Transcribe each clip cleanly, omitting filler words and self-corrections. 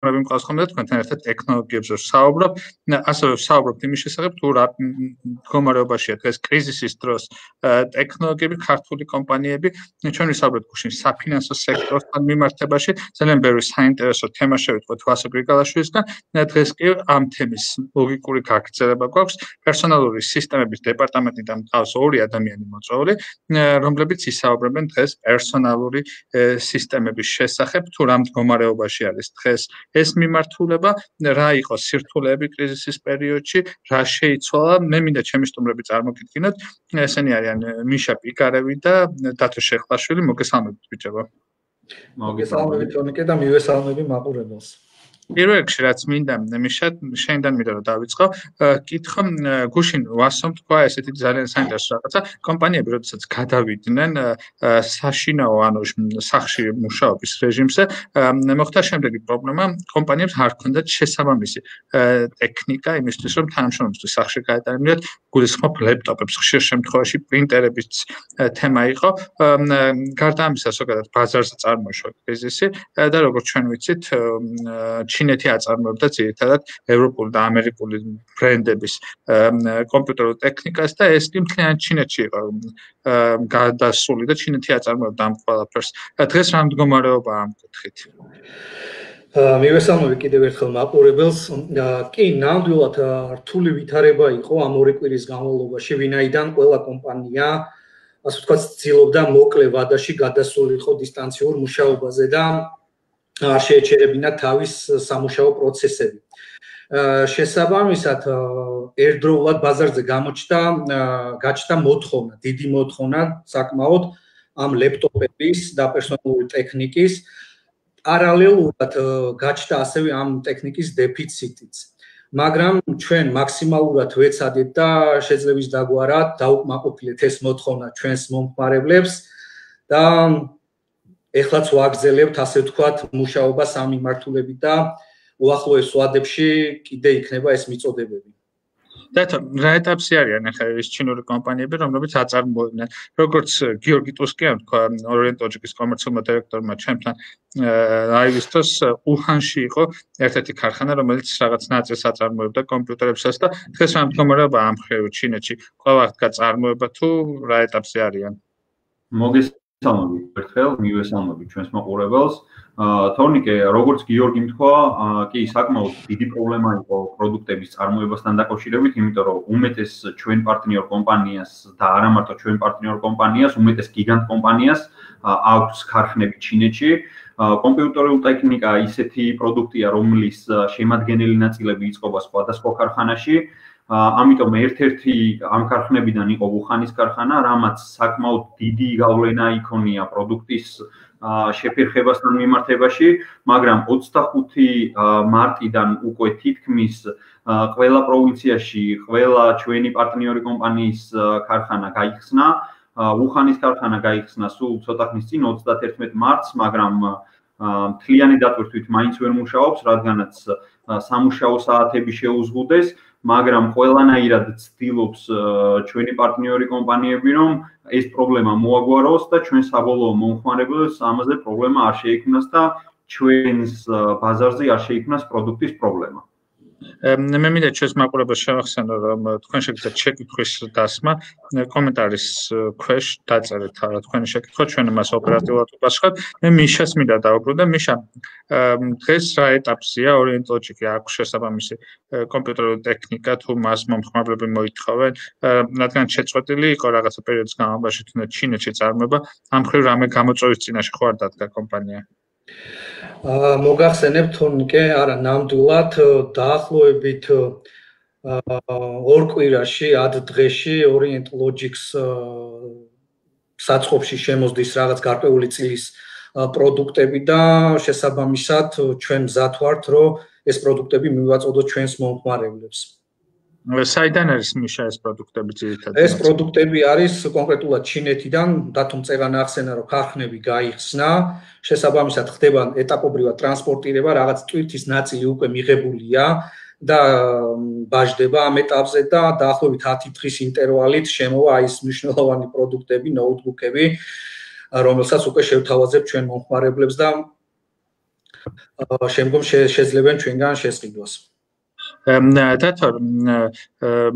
დათქმები მყავს ხოლმე და თქვენთან ერთად ტექნოლოგიებზე ვსაუბრობ. ასევე ვსაუბრობთ იმის შესახებ, თუ რა მდგომარეობაშია დღეს კრიზისის დროს ტექნოლოგიები, ქართული კომპანიები. ჩვენ ვისაუბრებთ გუშინ საფინანსო სექტორთან მიმართებაში. ძალიან ბევრი საინტერესო თემა შევიტყვეთ ვასო გრიგალაშვილისგან. დღეს კი ამ თემის ლოგიკური გაგრძელება გვაქვს. პერსონალური სისტემების დეპარტამენტიდან მყავს ორი ადამიანი მოწვეული, რომლებიც ისაუბრებენ დღეს პერსონალური სისტემების შესახებ, თუ რა მდგომარეობაში არის დღეს ეს მიმართულება, რა იყო სირთულეები კრიზისის პერიოდში, რა შეიცვალა. მე მინდა ჩემი სტუმრები წარმოგიდგინოთ. ესენი არიან მიშა პიკარევი და დათო შეხლაშვილი. მოგესალმებით ბიჭებო. მოგესალმებით თონიკე და მივესალმები მაყურებელს. პირველ რიგში რაც მინდა მიშა შენიდან მინდა რომ დავიწყო, კითხო გუშინ ვასომ თქვა ესეთი ძალიან საინტერესო რაღაცა, კომპანიები როდესაც გადავიდნენ საშინაო ანუ სახლში მუშაობის რეჟიმზე, მოხდა შემდეგი პრობლემა, კომპანიებს არ ჰქონდათ შესაბამისი ტექნიკა იმისთვის, რომ თანამშრომლობისთვის სახლში გაეტანებინათ, გულისხმობ ლეპტოპებს, ხშირ შემთხვევაში პრინტერების თემა იყო. გარდა ამისა, ზოგადად ბაზარზე წარმოიშვა კრიზისი და როგორც ჩვენ ვიცით, ჩინეთი აწარმოებდა ძირითადად ევროპული და ამერიკული ბრენდების კომპიუტერულ ტექნიკას და ეს კი მთლიანად ჩინეთში იყო გადასული და ჩინეთი აწარმოებდა ამ ყველაფერს. დღეს რა მდგომარეობაა ამ კუთხით? მივესალმები კიდევ ერთხელ მაყურებელს. კი, ნამდვილად რთული ვითარება იყო ამ ორი კვირის განმავლობაში, ვინაიდან ყველა კომპანია ასე ვთქვათ ცდილობდა მოკლე ვადაში გადასულიყო დისტანციურ მუშაობაზე და არ შეეჩერებინა თავის სამუშაო პროცესები. შესაბამისად, ერთდროულად ბაზარზე გაჩნდა მოთხოვნა, დიდი მოთხოვნა საკმაოდ ამ ლეპტოპების და პერსონალური ტექნიკის. პარალელურად გაჩნდა ასევე ამ ტექნიკის დეფიციტიც. მაგრამ ჩვენ მაქსიმალურად ვეცადეთ და შეძლების დაგვარა დაუკმაყოფილეთ ეს მოთხოვნა ჩვენს მომხმარებლებს და ეხლაც ვაგრძელებთ ასე ვთქვათ მუშაობას ამ მიმართულებით და უახლოეს ვადებში კიდე იქნება ეს მიწოდებები. დათო, რა ეტაპში არიან ახლა ეს ჩინური კომპანიები, რომლებიც აწარმოებდნენ? როგორც გიორგი ტუსკიანი თქვა, ორიენტ-ლოჯიკის კომერციულმა დირექტორმა ჩემთან ლაივის დროს უჰანში იყო ერთ-ერთი ქარხანა, რომელიც რაღაც ნაწილს აწარმოებდა კომპიუტერებსაც და დღეს რა მდგომარეობაა ამ მხრივ ჩინეთში? ყველა აღდგა წარმოება თუ რა ეტაპში არიან? მოგესალმებით ერთხელ, მივესალმებით ჩვენს მაყურებელს. თორნიკე, როგორც გიორგიმ თქვა, კი საკმაოდ დიდი პრობლემა იყო პროდუქტების წარმოებასთან დაკავშირებით, იმიტომ რომ უმეტეს ჩვენ პარტნიორ კომპანიას და არა მარტო ჩვენ პარტნიორ კომპანიას, უმეტეს გიგანტ კომპანიას აქვს ქარხნები ჩინეთში. კომპიუტერული ტექნიკა ისეთი პროდუქტია, რომლის შემადგენელი ნაწილები იწყობა სხვადასხვა ქარხანაში. ამიტომ ერთ-ერთი ამ ქარხნებიდან იყო უხანის ქარხანა, რამაც საკმაოდ დიდი გავლენა იქონია პროდუქტის შეფერხებასთან მიმართებაში, მაგრამ 25 მარტიდან უკვე თითქმის ყველა პროვინციაში, ყველა ჩვენი პარტნიორი კომპანიის ქარხანა გაიხსნა. უხანის ქარხანა გაიხსნა სულ ცოტა ხნის წინ 31 მარტს, მაგრამ მთლიანი დატვირთვით მაინც ვერ მუშაობს, რადგანაც სამუშაო საათები შეუზღუდეს, მაგრამ ყველანაირად ცდილობს ჩვენი პარტნიორი კომპანიები, რომ ეს პრობლემა მოაგვაროს და ჩვენ საბოლოო მომხმარებელს ამაზე პრობლემა არ შეიქმნას და ჩვენს ბაზარზე არ შეიქმნას პროდუქტის პრობლემა. მე მინდა ჩვენს მაყურებელს შევახსენო, რომ თქვენ შეგიძლიათ შეკითხვის დასმა კომენტარის ქვეშ დაწერეთ თქვენი შეკითხვა, ჩვენ მას ოპერატიულად ვპასუხებთ. მე მიშას მინდა დავუბრუნდე. მიშა, დღეს რა ეტაპზეა ორიენტ-ლოჯიკი აქვს შესაბამისი კომპიუტერული ტექნიკა თუ მას მომხმარებლები მოითხოვენ, რადგან შეწყვეტილი იყო რაღაცა პერიოდის განმავლობაში თუნდაც ჩინეთში წარმოება, ამ მხრივ რამე გამოწვევის წინაშე ხო არ დადგა კომპანია? მოგახსენებთ თორნიკე, არა ნამდვილად დაახლოებით ორ კვირაში, ად დღეში ორიენტ-ლოჯიკს საწყობში შემოსდის რაღაც გარკვეული წილის პროდუქტები და შესაბამისად ჩვენ მზად ვართ, რომ ეს პროდუქტები მივაწოდოთ ჩვენს მომხმარებლებს. საიდან არის მიშა ეს პროდუქტები ძირითადად? ეს პროდუქტები არის კონკრეტულად ჩინეთიდან, დათომ წერან ახსენა, რომ ქარხნები გაიხსნა, შესაბამისად ხდება ეტაპობრივად ტრანსპორტირება, რაღაც ტვირთის ნაწილი უკვე მიღებულია და ბაჟდება ამ ეტაპზე და დაახლოებით 10 დღის ინტერვალით შემოვა ეს მნიშვნელოვანი პროდუქტები, ნოუთბუქები, რომელსაც უკვე შევთავაზებ ჩვენ მომხმარებლებს და შემდგომ შეძლებენ ჩვენგან შესყიდვას. დათორ,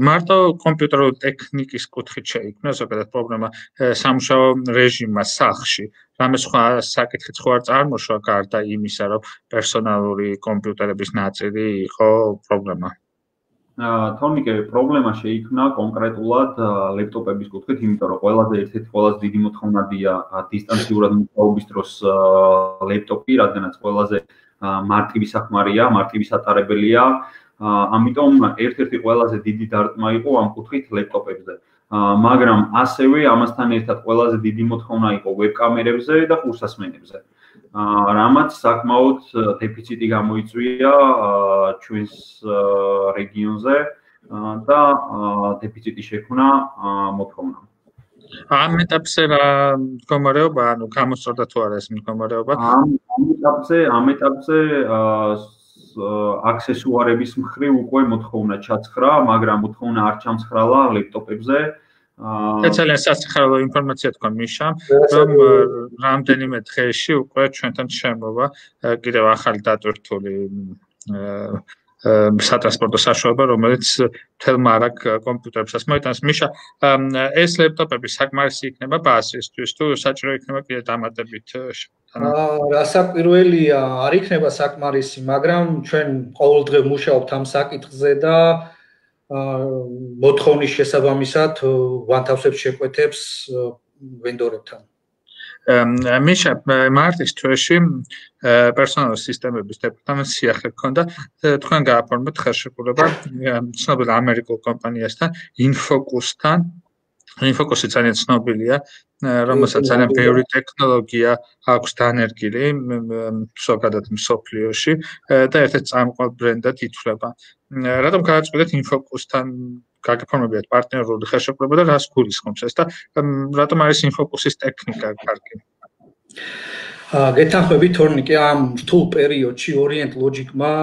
მარტო კომპიუტერული ტექნიკის კუთხით შეიქმნა ზოგადად პრობლემა სამუშაო რეჟიმმა სახლში. რამე სხვა საკითხიც ხო არ წარმოშვა გარდა იმისა, რომ პერსონალური კომპიუტერების ნაწილი იყო პრობლემა? თორნიკე, პრობლემა შეიქმნა კონკრეტულად ლეპტოპების კუთხით, იმიტომ რომ ერთ-ერთი ყველაზე დიდი მოთხოვნადია დისტანციურად მუშაობის დროს ლეპტოპი, რადგანაც ყველაზე მარტივი საქმარია, მარტივი სატარებელია. ამიტომ ერთ-ერთი ყველაზე დიდი დარტყმა იყო ამ კუთხით ლეპტოპებზე. მაგრამ ასევე ამასთან ერთად ყველაზე დიდი მოთხოვნა იყო ვებკამერებზე და ყურსასმენებზე. რამაც საკმაოდ დეფიციტი გამოიწვია ჩვენს რეგიონზე და დეფიციტი შექმნა მოთხოვნა. ამ ეტაპზე რა მდგომარეობა, ანუ გამოსწორდა თუ არა ეს მდგომარეობა? ამ ეტაპზე აქსესუარების მხრივ უკვე მოთხოვნა ჩაცხრა, მაგრამ მოთხოვნა არ ჩამცხრალა ლეპტოპებზე. ძალიან სასიხარულო ინფორმაცია თქვა მიშამ, რომ რამდენიმე დღეში უკვე ჩვენთან შემოვა კიდევ ახალი დატვირთული სატრანსპორტო საშუალება, რომელიც მთელ მარაგ კომპიუტერებსაც მოიტანს. მიშა, ეს ლეპტოპები საკმარისი იქნება ბაზისთვის თუ საჭირო იქნება კიდე დამატებით? რასაკვირველია, არ იქნება საკმარისი, მაგრამ ჩვენ ყოველდღე მუშაობთ ამ საკითხზე და მოთხოვნის შესაბამისად ვანთავსებთ შეკვეთებს ვენდორებთან. მიშა, მარტის თვეში პერსონალური სისტემების დეპარტამენტს სიახლე ჰქონდა, თქვენ გააფორმეთ ხელშეკრულება ცნობილ ამერიკულ კომპანიასთან, ინფოკუსთან. ინფოკუსი ძალიან ცნობილია, რომელსაც ძალიან ბევრი ტექნოლოგია აქვს დანერგილი ზოგადად მსოფლიოში და ერთ-ერთ წამყვან ბრენდად ითვლება. რატომ გააწყვეტეთ ინფოკუსთან გაგაფორმებიათ პარტნიორული ხელშეკრულება და რას გულისხმობს ეს და რატომ არის ინფოკუსის ტექნიკა კარგი? გეთანხმები თორნიკე, ამ რთულ პერიოდში Orient Logic-მა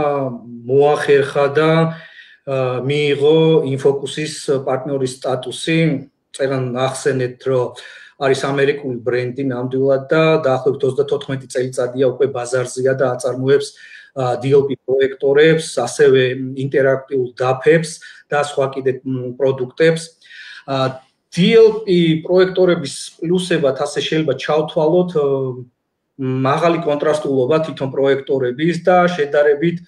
მოახერხა და მიიღო ინფოკუსის პარტნიორის სტატუსი. წერან ახსენეთ, რომ არის ამერიკული ბრენდი ნამდვილად და დაახლოებით 34 წელიწადია უკვე ბაზარზეა და აწარმოებს DLP პროექტორებს, ასევე ინტერაქტიულ დაფებს და სხვა კიდე პროდუქტებს. DLP პროექტორების პლუსებად ასე შეიძლება ჩავთვალოთ მაღალი კონტრასტულობა თვითონ პროექტორების და შედარებით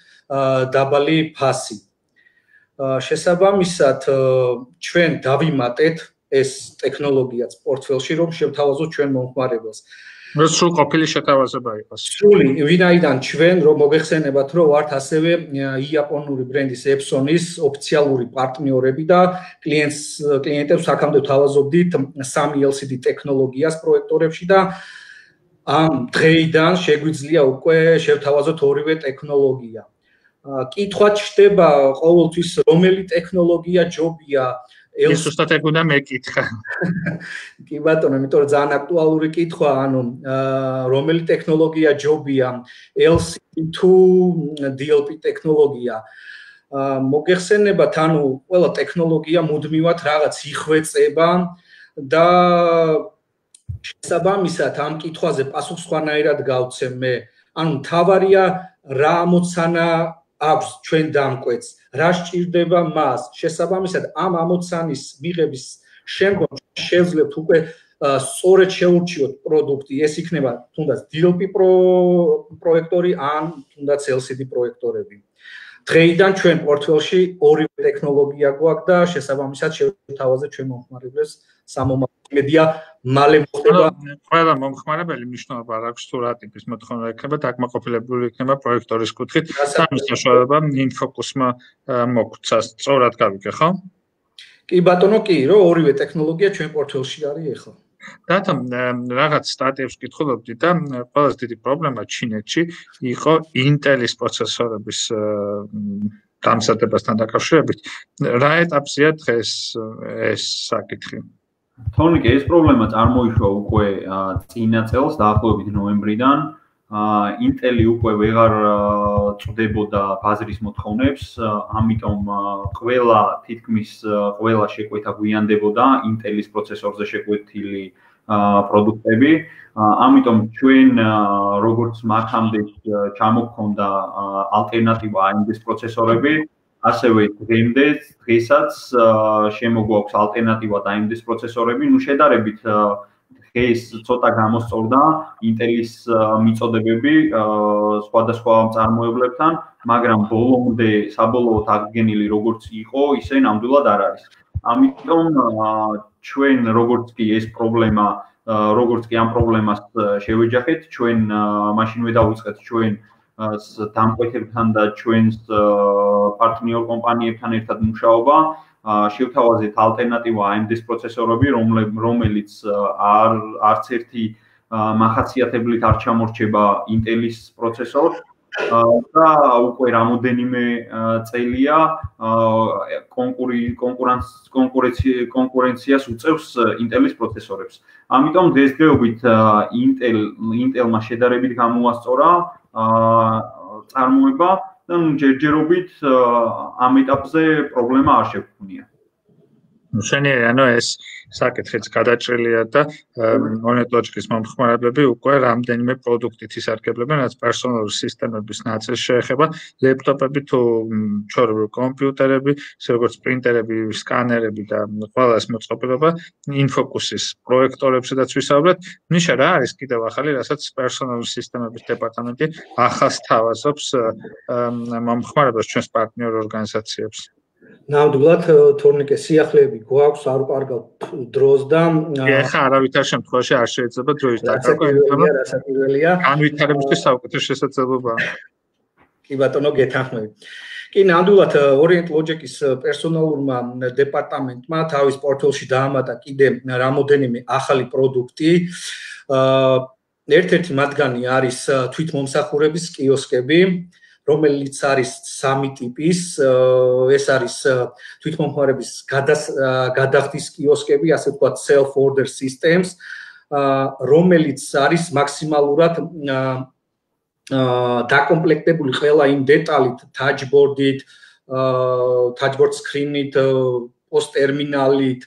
დაბალი ფასი. შესაბამისად, ჩვენ დავიმატეთ ეს ტექნოლოგიაც პორტფელში, რომ შევთავაზოთ ჩვენ მომხმარებელს. სრულ ყოფილი შეთავაზება იყოს. სრული, ვინაიდან ჩვენ რომ მოგეხსენებათ, რომ ვართ ასევე იაპონური ბრენდის Epson-ის ოფიციალური პარტნიორები და კლიენტებს აქამდე ვთავაზობდით 3 LCD ტექნოლოგიას პროექტორებში და ამ დღეიდან შეგვიძლია უკვე შევთავაზოთ ორივე ტექნოლოგია. კითხვა ჩდება ყოველთვის რომელი ტექნოლოგია ჯობია ეს უბრალოდ ეგ უნდა მეკითხა. კი ბატონო, იმიტომ რომ ძალიან აქტუალური კითხვა, ანუ რომელი ტექნოლოგია ჯობია LCD თუ DLP ტექნოლოგია. მოგეხსენებათ, ანუ ყველა ტექნოლოგია მუდმივად რაღაც იხვეწება და შესაბამისად ამ კითხვაზე პასუხს სხვანაირად გავცემ მე. ანუ მთავარია რა ამოცანა აქვს ჩვენ დამკვეთს, რა სჭირდება მას. შესაბამისად ამ ამოცანის მიღების შემდგომ შევძლებთ უკვე სწორედ შეურჩიოთ პროდუქტი, ეს იქნება თუნდაც DLP პროექტორი ან თუნდაც LCD პროექტორები. დღეიდან ჩვენ პორტფელში ორივე ტექნოლოგია გვაქვს და შესაბამისად შევთავაზეთ ჩვენ მომხმარებლებს სამომავლო იმედია მალე მოხდება. ყველა მომხმარებელი მნიშვნელობა არ აქვს თუ რა ტიპის მოთხოვნა ექნება, დაკმაყოფილებული იქნება პროექტორის კუთხით. სამის საშუალება ინფოკუსმა მოგცა. სწორად გავიგე, ხო? კი ბატონო, კი, რომ ორივე ტექნოლოგია ჩვენ პორტფელში არის ახლა. დათო, რაღაც სტატიებს ვკითხულობდი და ყველაზე დიდი პრობლემა ჩინეთში იყო Intel-ის პროცესორების დამზადებასთან დაკავშირებით. რა ეტაპზეა დღეს ეს საკითხი? თორნიკე, ეს პრობლემა წარმოიშვა უკვე წინა წელს, დაახლოებით ნოემბრიდან. Intel-ი უკვე ვეღარ წვდებოდა ბაზრის მოთხოვნებს, ამიტომ თითქმის ყველა შეკვეთა გვიანდებოდა Intel-ის პროცესორზე შეკვეთილი პროდუქტები. ამიტომ ჩვენ როგორც მაქამდე ჩამოგქონდა ალტერნატივა AMD-ის პროცესორები, ასევე დღესაც შემოგვაქვს ალტერნატივა AMD-ის პროცესორები, შედარებით დღეს ცოტა გამოსწორდა Intel-ის მიწოდებები სხვადასხვა მწარმოებლებთან, მაგრამ ბოლომდე საბოლოოდ აღდგენილი როგორც იყო, ისე ნამდვილად არ არის. ამიტომ ჩვენ როგორც კი ეს პრობლემა, როგორც კი ამ პრობლემას შევეჯახეთ, ჩვენ მაშინვე დავიწყეთ ჩვენ დამკვეთებთან და ჩვენს პარტნიორ კომპანიებთან ერთად მუშაობა. შევთავაზეთ ალტერნატივა AMD-ის პროცესორები, რომელიც არც ერთი მახასიათებლით არ ჩამორჩება Intel-ის პროცესორს და უკვე რამოდენიმე წელია კონკურენციას უწევს Intel-ის პროცესორებს. ამიტომ დღესდღეობით Intel-მა შედარებით გამოასწორა წარმოება და ჯერჯერობით ამ ეტაპზე პრობლემა არ შეგვქონია. მშვენიერი, ანუ ეს საკითხიც გადაჭრილია და მონეტოჯკის მომხმარებლები უკვე რამდენიმე პროდუქტით ისარგებლებენ, რაც პერსონალური სისტემების ნაწილს შეეხება, ლეპტოპები თუ ჩვეულებრივი კომპიუტერები, ისე როგორც პრინტერები, სკანერები და ყველა ეს მოწყობილობა, ინფოკუსის პროექტორებსაც ვისაუბრეთ. ნიშა რა არის კიდევ ახალი, რასაც პერსონალური სისტემების დეპარტამენტი ახალს თავაზობს მომხმარებლებს ჩვენს პარტნიორ ორგანიზაციებს. ნამდვილად თორნიკე სიახლეები გვაქვს არ კარგავ დროს და ეხა არავითარ შემთხვევაში არ შეიძლება დროის დაკარგვა, რასაკვირველია. განვითარებისთვის საუკეთესო შესაძლებლობაა. კი ბატონო, გეთანხმებით. კი, ნამდვილად Orient Logic-ის პერსონალურმა დეპარტამენტმა თავის პორტფელიში დაამატა კიდე რამოდენიმე ახალი პროდუქტი. ერთ-ერთი მათგანი არის თვითმომსახურების კიოსკები, რომელიც არის სამი ტიპის, ეს არის თვითმომხმარების გადახდის კიოსკები, ასე ვთქვათ self order systems, რომელიც არის მაქსიმალურად დაკომპლექტებული ყველა იმ დეტალით, touchboard-ით, touchboard screen-ით, post terminal-ით,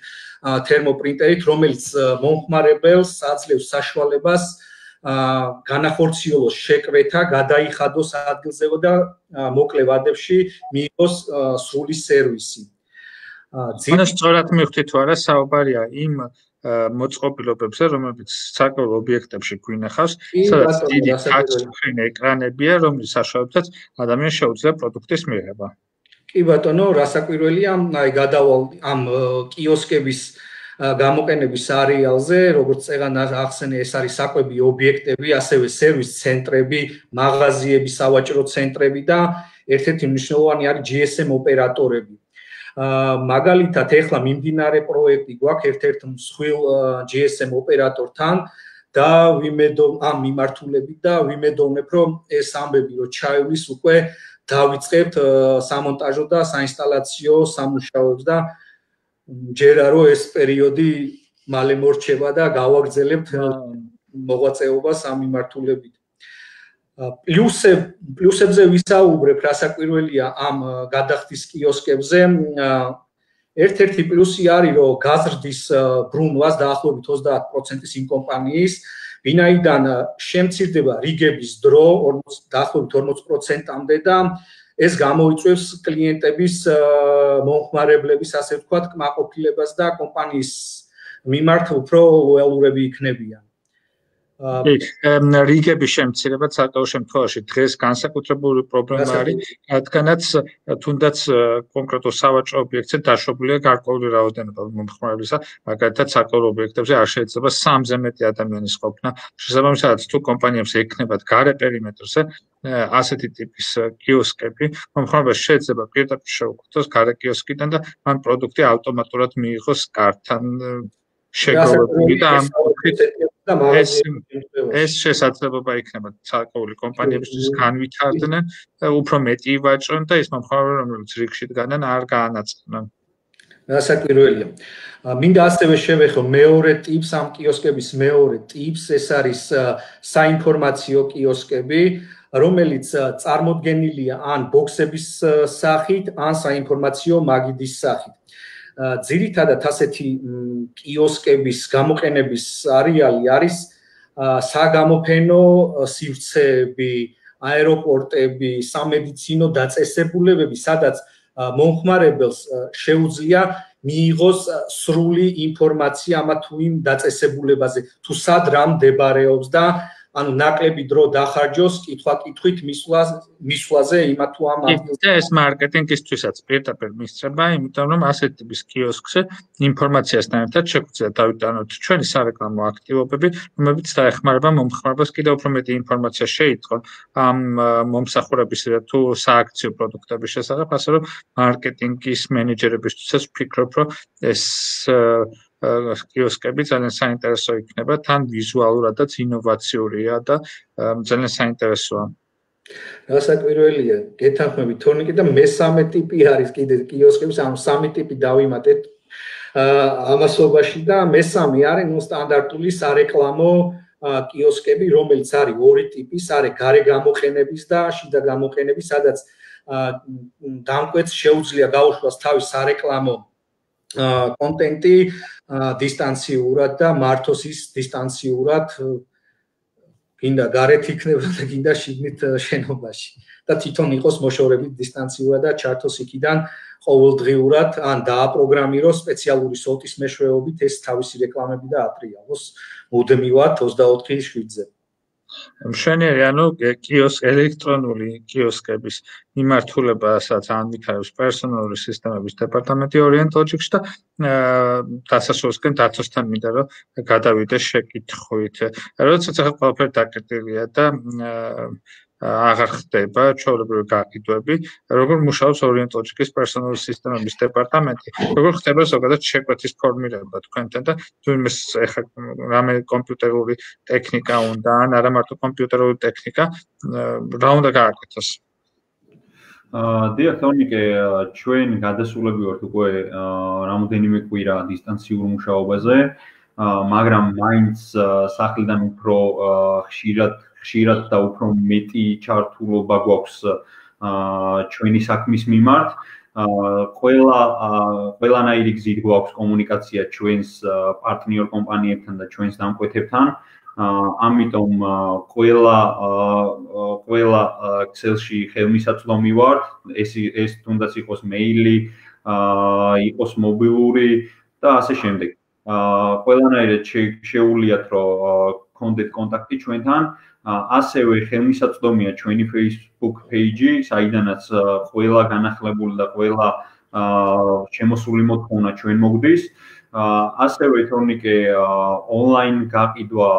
თერმოპრინტერით, რომელიც მომხმარებელს აძლევს საშუალებას განახორციელოს შეკრეთა, გადაიხადოს ადგილზე და მოკლე ვადებში მიიღოს სრული სერვისი. ანუ სწორად მივხვდით თუ არა, საუბარია იმ მოწყობილობებზე, რომლებიც საკუთარ ობიექტებში გვინახავს, სადაც დიდი touchscreen ეკრანებია, რომლის საშუალებითაც ადამიანს შეუძლია პროდუქტის მიღება. კი ბატონო, რასაკვირველია, აი გადავალ ამ კიოსკების გამოყენების არეალზე, როგორც წეგან ახსენე, ეს არის საკვები ობიექტები, ასევე სერვის ცენტრები, მაღაზიები, სავაჭრო ცენტრები და ერთ-ერთი მნიშვნელოვანი არის GSM ოპერატორები. მაგალითად, ეხლა მიმდინარე პროექტი გვაქვს ერთ-ერთ მსხვილ GSM ოპერატორთან და ამ მიმართულებით და ვიმედოვნებ, რომ ეს ამბები რო ჩაივლის უკვე დავიწყებთ სამონტაჟო და საინსტალაციო სამუშაოებს და ჯერა რომ ეს პერიოდი მალე მორჩება და გავაგრძელებთ მოღვაწეობას ამ მიმართულებით. პლუსებზე ვისაუბრებ, რასაკვირველია ამ გადახდის კიოსკებზე. ერთ-ერთი პლუსი არის, რომ გაზრდის ბრუნვას დაახლოებით 30%-ის იმ კომპანიის, ვინაიდან შემცირდება რიგების დრო დაახლოებით 40%-მდე და ეს გამოიწვევს კლიენტების მომხმარებლების, ასე ვთქვათ, კმაყოფილებას და კომპანიის მიმართ უფრო ლოიალურები იქნებიან. რიგების შემცირება საკუთარ შემთხვევაში დღეს განსაკუთრებული პრობლემა არის, რადგანაც თუნდაც კონკრეტულ სავაჭრო ობიექტზე დაშვებულია გარკვეული რაოდენობა მომხმარებლისა, მაგალითად საკუთარ ობიექტებზე არ შეიძლება 3-ზე მეტი ადამიანის ყოფნა. შესაბამისად, თუ კომპანიებს ექნებათ გარე პერიმეტრზე ასეთი ტიპის კიოსკები, მომხმარებელს შეიძლება პირდაპირ შეუკვეთოს გარე კიოსკიდან და მან პროდუქტი ავტომატურად მიიღოს კარტთან შეგროვებული და ეს შესაძლებლობა იქნება საკუთარი კომპანიებისთვის განვითარდნენ და უფრო მეტი ივაჭრონ და ის მომხმარებლები, რომლებიც რიგში დგანან, არ გაანაწყდნენ. რასაკვირველია. მინდა ასევე შევეხო მეორე ტიპს, ამ კიოსკების მეორე ტიპს, ეს არის საინფორმაციო კიოსკები, რომელიც წარმოდგენილია ან ბოქსების სახით, ან საინფორმაციო მაგიდის სახით. ძირითადად ასეთი კიოსკების გამოყენების არეალი არის საგამოფენო სივრცეები, აეროპორტები, სამედიცინო დაწესებულებები, სადაც მომხმარებელს შეუძლია მიიღოს სრული ინფორმაცია ამა თუ იმ დაწესებულებაზე, თუ სად რა მდებარეობს და ანუ ნაკლები დრო დახარჯოს კითხვა-კითხვით მისვლაზე იმა თუ ამ ადგილზე. ეს მარკეტინგისთვისაც პირდაპირ მისწრება, იმიტომ რომ ასეთ ტიპის კიოსკზე ინფორმაციასთან ერთად შეგვიძლია დავიტანოთ ჩვენი სარეკლამო აქტივობები, რომლებიც დაეხმარება მომხმარებელს კიდევ უფრო მეტი ინფორმაცია შეიტყონ ამ მომსახურების თუ სააქციო პროდუქტების შესახებ, ასე რომ მარკეტინგის მენეჯერებისთვისაც ვფიქრობ, რომ ეს კიოსკები ძალიან საინტერესო იქნება, თან ვიზუალურადაც ინოვაციურია და ძალიან საინტერესოა. რასაკვირველია, გეთანხმებით თორნიკე და მესამე ტიპი არის კიდე კიოსკების, ანუ სამი ტიპი დავიმატეთ ამასობაში და მესამე არის სტანდარტული სარეკლამო კიოსკები, რომელიც არის ორი ტიპის, არის გარე გამოყენების და შიდა გამოყენების, სადაც დამკვეთს შეუძლია გაუშვას თავის სარეკლამო კონტენტი დისტანციურად და მართოს ის დისტანციურად გინდა გარეთ იქნება და გინდა შიგნით შენობაში და თვითონ იყოს მოშორებით დისტანციურად და ჩართოს იქიდან ყოველდღიურად ან დააპროგრამიროს სპეციალური სოლტის მეშვეობით ეს თავისი რეკლამები და ატრიალოს მუდმივად 24/7-ზე. მშვენიერი, ანუ ელექტრონული კიოსკების მიმართულებასაც ანვითარებს პერსონალური სისტემების დეპარტამენტი Orient Logics და დასასრულისკენ დაცვასთან მინდა რომ გადავიდე შეკითხვით. როდესაც ახლა ყველაფერი დაკეტილია და აღარ ხდება ჩვეულებრივი გაყიდვები, როგორ მუშაობს Orient Logics პერსონალური სისტემების დეპარტამენტი, როგორ ხდება ზოგადად შეკვეთის ფორმირება თქვენთან და თუმცა ეხლა რამე კომპიუტერული ტექნიკა უნდა ან არა მარტო კომპიუტერული ტექნიკა, რა უნდა გააკეთოს? დიახ, თორნიკე, ჩვენ გადასულები ვართ უკვე რამოდენიმე კვირა დისტანციურ მუშაობაზე, მაგრამ მაინც სახლიდან უფრო ხშირად და უფრო მეტი ჩართულობა გვაქვს ჩვენი საქმის მიმართ. ყველანაირი გზით გვაქვს კომუნიკაცია ჩვენს პარტნიორ კომპანიებთან და ჩვენს დამკვეთებთან. ამიტომ ყველა ქსელში ხელმისაწვდომი ვართ. ეს თუნდაც იყოს მეილი, იყოს მობილური და ასე შემდეგ. ყველანაირად შეუძლიათ რომ გქონდეთ კონტაქტი ჩვენთან. ასევე ხელმისაწვდომია ჩვენი Facebook page-ი, საიდანაც ყველა განახლებული და ყველა შემოსული მოთხოვნა ჩვენ მოგდის. ასევე თორნიკე ონლაინ გაყიდვა,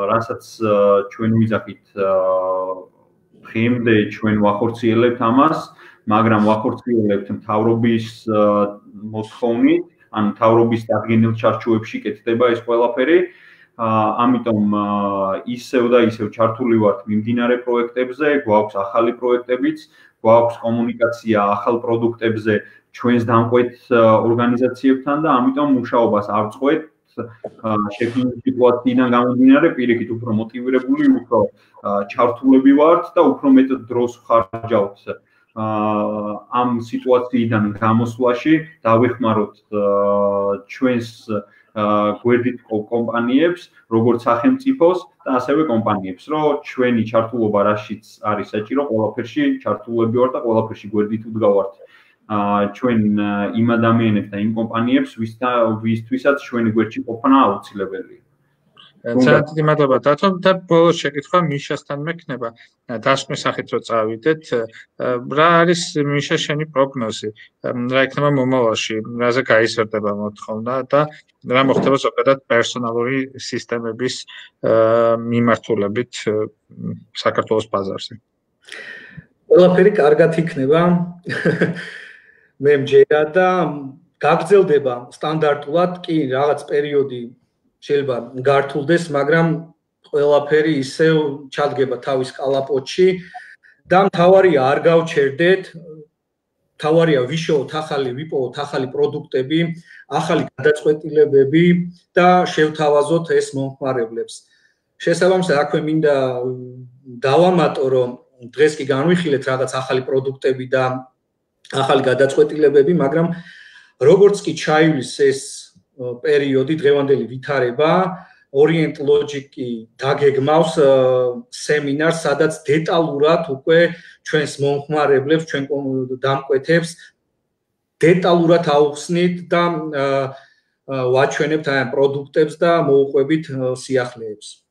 რასაც ჩვენ ვიძახით, დღემდე ჩვენ ვახორციელებთ ამას, მაგრამ ვახორციელებთ მთავრობის მოთხოვნით, ან მთავრობის დადგენილ ჩარჩოებში კეთდება ეს ყველაფერი. ამიტომ ისევ და ისევ ჩართული ვართ მიმდინარე პროექტებზე, გვაქვს ახალი პროექტებიც, გვაქვს კომუნიკაცია ახალ პროდუქტებზე ჩვენს დამკვეთ ორგანიზაციებთან და ამიტომ მუშაობას არ წყვეთ. შექმნილი სიტუაციიდან გამომდინარე, პირიქით უფრო მოტივირებული, უფრო ჩართულები ვართ და უფრო მეტ დროს ვხარჯავთ ამ სიტუაციიდან გამოსვლაში, დავეხმაროთ ჩვენს გვერდით კომპანიებს, როგორც სახელმწიფოს და ასევე კომპანიებს, რომ ჩვენი ჩართულობა რაშიც არის საჭირო, ყველაფერში ჩართულები ვართ და ყველაფერში გვერდით ვდგავართ. ჩვენ იმ ადამიანებს და იმ კომპანიებს, ვისთვისაც ჩვენი გვერდში ყოფნა აუცილებელია. ძალიან დიდი მადლობა დათო და ბოლოს შეკითხვა მიშასთან მექნება. დასკვნის სახით რო წავიდეთ, რა არის მიშა შენი პროგნოზი? რა იქნება მომავალში? რაზე გაიზრდება მოთხოვნა და რა მოხდება ზოგადად პერსონალური სისტემების მიმართულებით საქართველოს ბაზარზე? ყველაფერი კარგად იქნება. მე მჯერა და გაგრძელდება სტანდარტულად, კი რაღაც პერიოდი შეიძლება გართულდეს, მაგრამ ყველაფერი ისევ ჩადგება თავის კალაპოტში და მთავარია არ გავჩერდეთ, მთავარია ვიშოვოთ ახალი, ვიპოვოთ ახალი პროდუქტები, ახალი გადაწყვეტილებები და შევთავაზოთ ეს მომხმარებლებს. შესაბამისად, აქვე მინდა დავამატო, რომ დღეს კი განვიხილეთ რაღაც ახალი პროდუქტები და ახალი გადაწყვეტილებები, მაგრამ როგორც კი ჩაივლის ეს პერიოდი დღევანდელი ვითარება Orient Logic-ი დაგეგმავს სემინარს, სადაც დეტალურად უკვე ჩვენს მომხმარებლებს, ჩვენ დამკვეთებს დეტალურად აუხსნით და ვაჩვენებთ ამ პროდუქტებს და მოუყვებით სიახლეებს.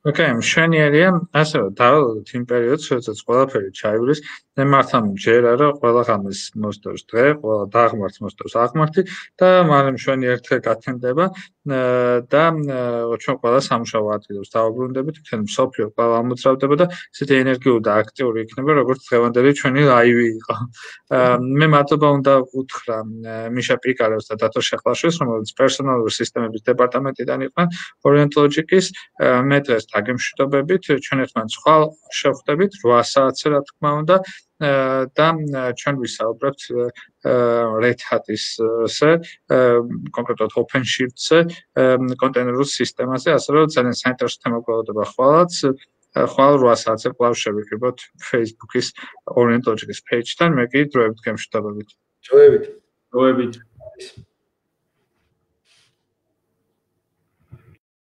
Okay, მშვენიერია, ასე რომ დავალოთ იმ პერიოდს, როდესაც ყველაფერი ჩაივლის, მე მართლა მჯერა, რომ ყველა ღამეს მოსდევს დღე, ყველა დაღმართს მოსდევს აღმართი და მაგრამ მშვენიერ დღე გათენდება და ჩვენ ყველა სამუშაო ადგილებს დავაბრუნდებით, თქვენ მსოფლიო ყველა ამოძრავდება და ისეთი ენერგიული და აქტიური იქნება, როგორც დღევანდელი ჩვენი ლაივი იყო. მე მადლობა უნდა უთხრა მიშა პიკარევს და დათო შეხლაშვილს, რომელიც პერსონალური სისტემების დეპარტამენტიდან იყვნენ Orient Logic-ის, მე დღეს დაგემშვიდობებით, ჩვენ ერთმანეთს ხვალ შევხვდებით 8 საათზე, რა თქმა უნდა, და ჩვენ ვისაუბრებთ Red Hat-ისზე, კონკრეტულად OpenShift-ზე, კონტეინერულ სისტემაზე, ასე რომ ძალიან საინტერესო თემა გვეუბნება ხვალაც. ხვალ 8 საათზე კვლავ შევიკრიბოთ Facebook-ის Orient Logic-ის page-თან, მე კი დროებით გემშვიდობებით. დროებით. დროებით.